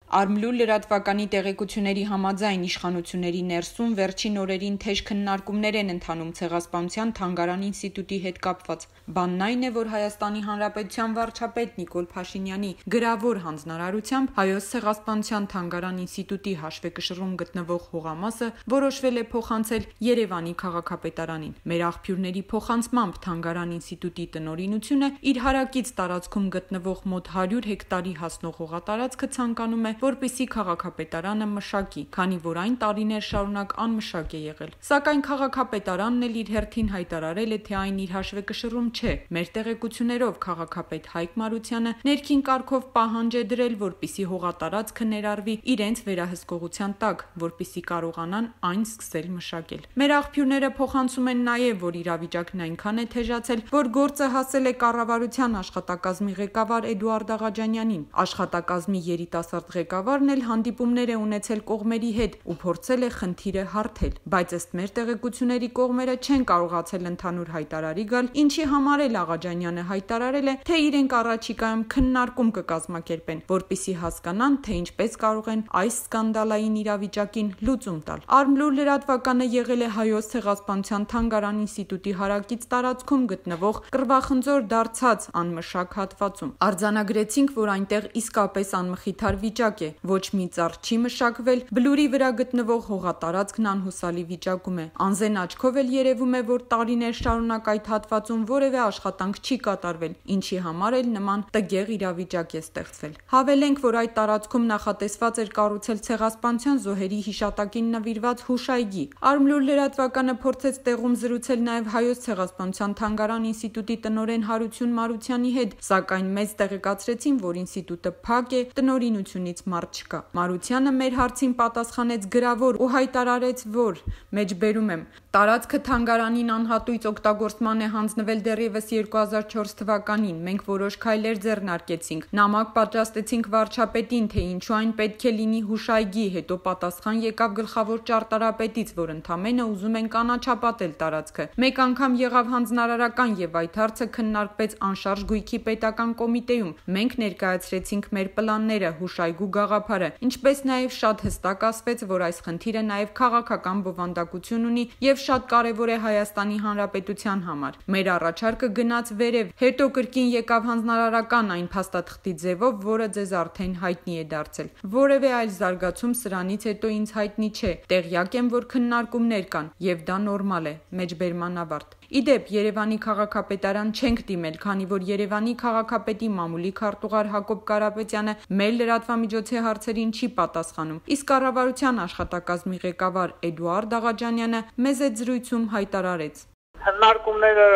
Արմլու լրատվականի տեղեկությունների համաձայն իշխանությունների ներսում վերջին օրերին թեժ քննարկումներ են ընթանում Ցեղասպանության թանգարան ինստիտուտի հետ կապված։ Բանն այն է, որ Հայաստանի Հանրապետության վարչապետ Նիկոլ Փաշինյանի գրավոր հանձնարարությամբ Հայոց Ցեղասպանության թանգարան ինստիտուտի հաշվեկշռում գտնվող հողամասը որոշվել է փոխանցել Երևանի քաղաքապետարանին։ Մեր աղբյուրների փոխանցմամբ թանգարան ինստիտուտի տնօրինությունը իր հարակից տարածքում գտնվող մոտ 100 հեկտարի հասնող հողատարածքը ցանկանում է, որպեսզի քաղաքապետարանը մշակի, քանի որ այն տարիներ շարունակ անմշակ է եղել։ Սակայն քաղաքապետարանն էլ իր հերթին հայտարարել է, թե այն իր հաշվեկշռում չէ։ Մեր տեղեկություններով քաղաքապետ Հայկ Մարությանը ներքին կարգով պահանջ է դրել, որպեսզի հողատարածքը ներառվի իրենց վերահսկողության տակ, որպեսզի կարողանան այն սկսել մշակել։ Մեր աղբյուրները փոխանցում են նաև, որ իրավիճակն այնքան է թեժացել, որ գործը հասել է կառավարության աշխատակազմի ղեկավար Էդուարդ Աղաջանյանին։ Աշխատակազմի երիտասարդ ղեկավարն էլ հանդիպումներ է ունեցել կողմերի հետ ու փորձել է խնդիրը հարթել, բայց ըստ մեր տեղեկությունների կողմերը չեն կարողացել ընդհանուր հայտարարի գալ, ինչի համար էլ Աղաջանյանը հայտարարել է, թե իրենք առաջիկայում քննարկում կկազմակերպեն, որպեսզի հասկանան, թե ինչպես կարող են այս սկանդալային իրավիճակին լուծում տալ։ Արմլու լրատվականը եղել է Հայոց Ցեղասպանության թանգարան ինստիտուտի հարակից տարածքում գտնվող կռվախնձոր դարձած անմշակ հատվածում։ Արձանագրեցինք, որ այնտեղ իսկապես անմխիթար վիճակ է, ոչ մի ծառ չի մշակվել, բլուրի վրա գտնվող հողատարածքն անհուսալի վիճակում է։ Անզեն աչքով էլ երևում է, որ տարիներ շարունակ այդ հատվածում որևէ աշխատանք չի կատարվել, ինչի համար էլ նման տգեղ իրավիճակ է ստեղծվել։ Հավելենք, որ այդ տարածքում նախատեսված էր կառուցել Ցեղասպանության զոհերի հիշատակին նվիրված հուշայգի։ Արմլու լրատվականը փորձեց տեղում զրուցել նաև Հայոց Ցեղասպանության թանգարան ինստիտուտի տնօրեն Հարություն Մարությանի հետ, սակայն մեզ տեղեկացրեցին, որ ինստիտուտը փակ է, տնօրինությունից մարդ չկա։ Մարությանը մեր հարցին պատասխանեց գրավոր ու հայտարարեց, որ մեջբերում եմ. տարածքը թանգարանին անհատույց օգտագործման է հանձնվել դեռևս 2004 թվականին։ Մենք որոշ քայլեր ձեռնարկեցինք։ Նամակ պատրաստեցինք վարչապետին, թե ինչու այն պետք է լինի հուշայգի, հետո պատասխան եկավ գլխավոր ճարտարապետից, որ ընդամենը ուզում են կանաչապատել տարածքը։ Մեկ անգամ եղավ հանձնարարական եւ այդ հարցը քննարկվեց անշարժ գույքի պետական կոմիտեում։ Մենք ներկայացրեցինք մեր պլանները, հուշայգու գաղափարը, ինչպես նաև շատ հստակ ասվեց, որ այս խնդիրը նաև քաղաքական բովանդակություն ունի եւ շատ կարևոր է Հայաստանի Հանրապետության համար։ Մեր առաջարկը գնաց վերև, հետո կրկին եկավ հանձնարարական այն փաստաթղթի ձևով, որը ձեզ արդեն հայտնի է դարձել։ Որևէ այլ զարգացում սրանից հետո ինձ հայտնի չէ։ Տեղյակ եմ, որ քննարկումներ կան, եւ դա նորմալ է։ Մեջբերման ավարտ։ Իդեպ Երևանի քաղաքապետարան չենք դիմել, քանի որ Երևանի քաղաքապետի մամուլի քարտուղար Հակոբ Կարապետյանը մեր լրատվամիջոցի հարցերին չի պատասխանում, իսկ կառավարության աշխատակազմի ղեկավար Էդուարդ Աղաջանյանը մեզ այդ զրույցում հայտարարեց. Քննարկումները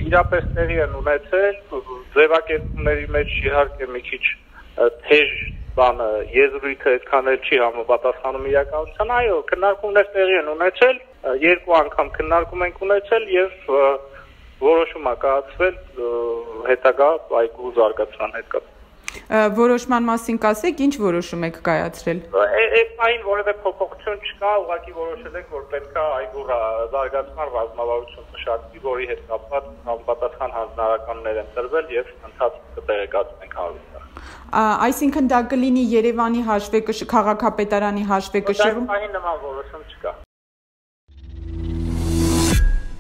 իրապես տեղի են ունեցել, ձևակերպումների մեջ իհարկե մի քիչ թեժ բանը եզրույթը այդքան էլ չի համապատասխանում իրականությանը, այո, քննարկումներ տեղի են ունեցել, երկու անգամ քննարկում ենք ունեցել եւ որոշում է կայացվել հետագա այգու զարգացման հետ կապ։ Որոշման մասին կասեք, ինչ որոշում եք կայացրել։ Այն որևէ փոփոխություն չկա, ուղղակի որոշել ենք, որ պետք է այգու զարգացման ռազմավարություն մշակվի, որի հետ կապված համապատասխան հանձնարարականներ են տրվել եւ ընթացքը կտեղեկացնենք հարցը։ Այսինքն դա կլինի Երևանի քաղաքապետարանի հաշվեկշռում։ Այն նման որոշում չկա։